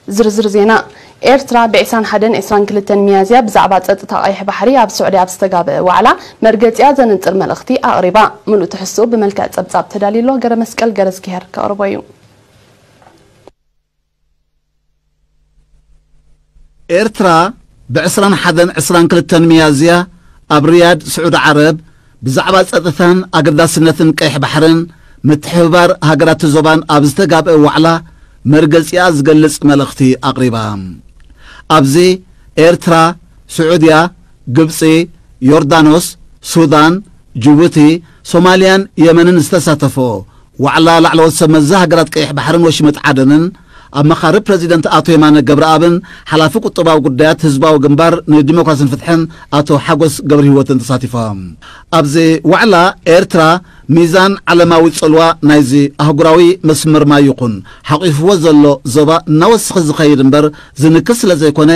ዝርዝር ዜና። ኤርትራ ብ ዕስራን ሓደን ዕስራን ክልተን ሚያዝያ ብዛዕባ ጸጥታ ቀይሕ ባሕሪ ኣብ ስዑዲ ኣብ ዝተጋበአ ዋዕላ መርገጺኣ ዘነጽር መልእኽቲ ኣቕሪባ። ምሉእ ትሕዝትኡ ብመልክዕ ጸብጻብ ተዳልዩ ኣሎ። ገረ መስቀል ገረዝጊሄር ከቕርቦ እዩ። ኤርትራ ብ ዕስራን ሓደን ዕስራን ክልተን ሚያዝያ ኣብ ሪያድ ስዑዲ ዓረብ ብዛዕባ ጸጥታን ኣገዳስነትን ቀይሕ ባሕርን ምትሕብባር ሃገራት ዞባን ኣብ ዝተጋብአ ዋዕላ መርገጺኣ ዝገልጽ መልእኽቲ ኣቕሪባ። ኣብዚ ኤርትራ፣ ስዑድያ፣ ግብጺ፣ ዮርዳኖስ፣ ሱዳን፣ ጅቡቲ፣ ሶማልያን የመንን ዝተሳተፎ ዋዕላ ላዕለዎት ሰብ መዚ ሃገራት ቀይሕ ባሕርን ወሽመጥ ዓደንን ኣመኻሪ ፕረዚደንት ኣቶ የማነ ገብረኣብን ሓላፊ ቁጠባዊ ጉዳያት ህዝባዊ ግንባር ንዲሞክራሲን ፍትሕን ኣቶ ሓጎስ ገብረ ህይወትን ተሳቲፎም። ኣብዚ ዋዕላ ኤርትራ ሚዛን ዓለማዊ ጽልዋ ናይዚ ኣህጉራዊ መስመር ማይ ይኹን ሓቂፍዎ ዘሎ ዞባ እናወሰኸ ዝኸይድ እምበር ዝንክስ ስለ ዘይኮነ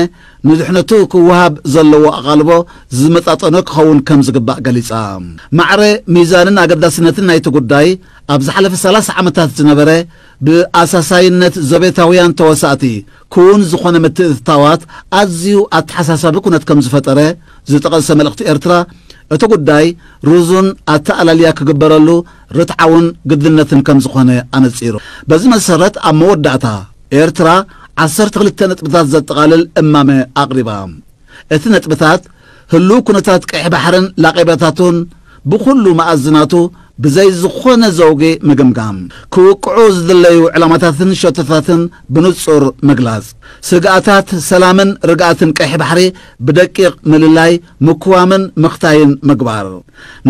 ንድሕነቱ ክወሃብ ዘለዎ ኣቓልቦ ዝመጣጠኖ ክኸውን ከም ዝግባእ ገሊጻ። ማዕረ ሚዛንን ኣገዳስነትን ናይቲ ጉዳይ ኣብ ዝሓለፈ ሰላሳ ዓመታት ዝነበረ ብኣሳሳይነት ዘቤታውያን ተወሳእቲ ክውን ዝኾነ ምትእትታዋት ኣዝዩ ኣተሓሳሳቢ ኩነት ከም ዝፈጠረ ዝጠቐሰ መልእኽቲ ኤርትራ፣ እቲ ጉዳይ ርዙን ኣተኣላልያ ክግበረሉ ርትዓውን ግድነትን ከም ዝኾነ ኣነጺሩ። በዚ መሰረት ኣብ መወዳእታ ኤርትራ ዓሰርተ ክልተ ነጥብታት ዘጠቓልል እማመ ኣቕሪባ። እቲ ነጥብታት ህሉው ኩነታት ቀይሕ ባሕርን ላቄባታቱን ብኹሉ መኣዝናቱ ብዘይ ዝኾነ ዘውጊ ምግምጋም፣ ክውቅዑ ዝድለዩ ዕላማታትን ሸቶታትን ብንጹር ምግላጽ፣ ስግኣታት ሰላምን ርግኣትን ቀይሕ ባሕሪ ብደቂቕ ምልላይ፣ ምኩዋምን ምኽታይን ምግባር፣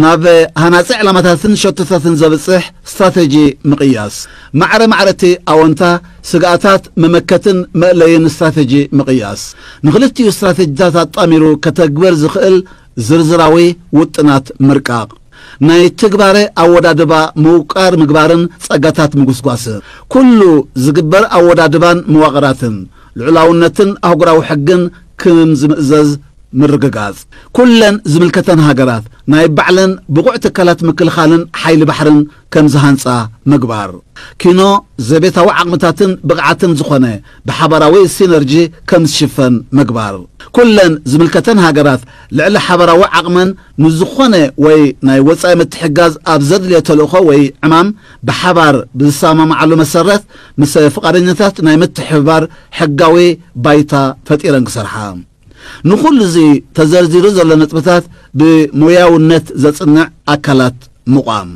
ናብ ሃናጺ ዕላማታትን ሸቶታትን ዘብጽሕ ስትራተጂ ምቕያስ፣ ማዕረ ማዕረቲ ኣወንታ ስግኣታት መመከትን መእለይን ስትራተጂ ምቕያስ፣ ንኽልቲኡ ስትራተጂታት ኣጣሚሩ ከተግበር ዝኽእል ዝርዝራዊ ውጥናት ምርቃቕ፣ ናይ ትግባረ ኣወዳድባ ምውቃር ምግባርን ጸጋታት ምጉስጓስ፣ ኩሉ ዝግበር ኣወዳድባን መዋቕራትን ልዑላውነትን ኣህጉራዊ ሕግን ከም ዝምእዘዝ ምርግጋጽ፣ ኩለን ዝምልከተን ሃገራት ናይ ባዕለን ብቑዕ ትካላት ምክልኻልን ሓይሊ ባሕርን ከም ዝሃንጻ ምግባር፣ ኪኖ ዘቤታዊ ዓቕምታትን ብቕዓትን ዝኾነ ብሓባራዊ ሲነርጂ ከም ዝሽፈን ምግባር፣ ኩለን ዝምልከተን ሃገራት ልዕሊ ሓባራዊ ዓቕመን ንዝኾነ ወይ ናይ ወጻኢ ምትሕጋዝ ኣብ ዘድልዮ ተልእኾ ወይ ዕማም ብሓባር ብዝሰማማዓሉ መሰረት ምስ ፍቓደኛታት ናይ ምትሕብባር ሕጋዊ ባይታ ፈጢረን ክሰርሓ። ንኹሉ እዚ ተዘርዚሩ ዘሎ ነጥብታት ብሞያውነት ዘጽንዕ ኣካላት ምቋም።